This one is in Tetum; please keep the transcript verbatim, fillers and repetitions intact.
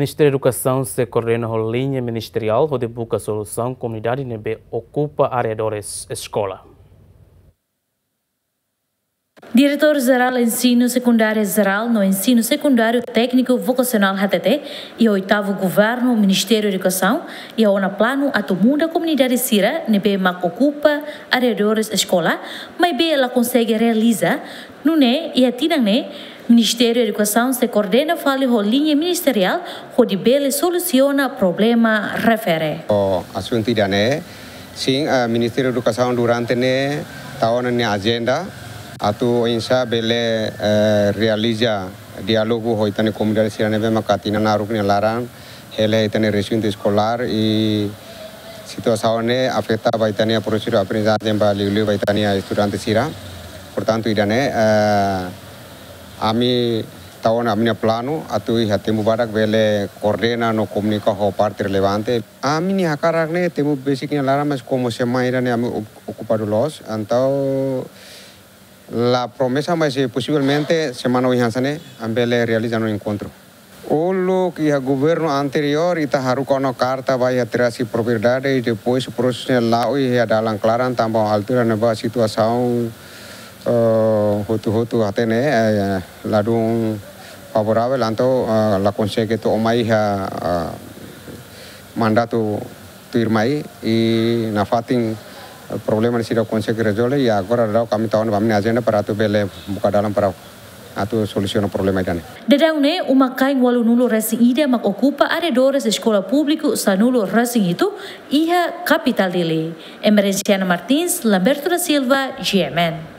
Ministériu Edukasaun sei koordena ho liña ministeriál hodi buka solusaun komunidade ne'ebé okupa arredores eskola. Diretór Jerál Ensinu Sekundáriu Jerál no Ensinu Sekundáriu Tékniku Vokasionál hatete, iha oitavu governu Ministériu Edukasaun iha ona planu atu muda komunidade sira ne'ebé mak okupa arredores eskola, maibé la konsege realiza. Nune'e iha tinan ne'e, Ministériu Edukasaun sei koordena fali ho liña ministeriál hodi bele solusiona problema refere. Ho asuntu ida-ne'e, sin, eh, Ministériu Edukasaun durante ne'e tau ona nia ajenda atu oinsá bele, eh, realiza diálogu ho ita-nia komunidade sira ne'ebé maka tinan naruk nia laran hela ita-nia resintu eskolár i situasaun ne'e afeta ba ita-nia prosesu aprendizajen ba liuliu ba ita-nia estudante sira. Portantu, ida-ne'e, eh, ami tau ona ami-nia planu atu iha tempu badak bele koordena no komunika ho parte relevante. Ami-nia hakarak ne'e tempu besik nia laran, mas komu semana ida-ne'e ami ok-, okupadu loos, entaun la promesa, mas, eh, posivelmente semana oin hanesan ne'e ami bele realiza ona enkontru. Uluk iha governu anteriór ita haruka ona karta ba iha Terasi Propriedade i depois prosesu ne'e la'o iha dalan klaran tanba altura ne'ebá situasaun, eh, hotu-hotu hatene, eh, ladún favoravel, entaun, eh, la konsege to'o mai iha, eh, mandatu tuirmai i nafatin, eh, problema ne'e seidauk konsege rezolve, i agora daudaun ami tau ona ba ami-nia ajenda para atu bele buka dalan para atu solusiona problema ida-ne'e. Daudaun ne'e, uma-kain ualunulu-resin-ida mak okupa arredores eskola públiku sanulu-resin-hitu iha kapitál Dili. Emerenciana Martins, Lamberto da Silva, G M N.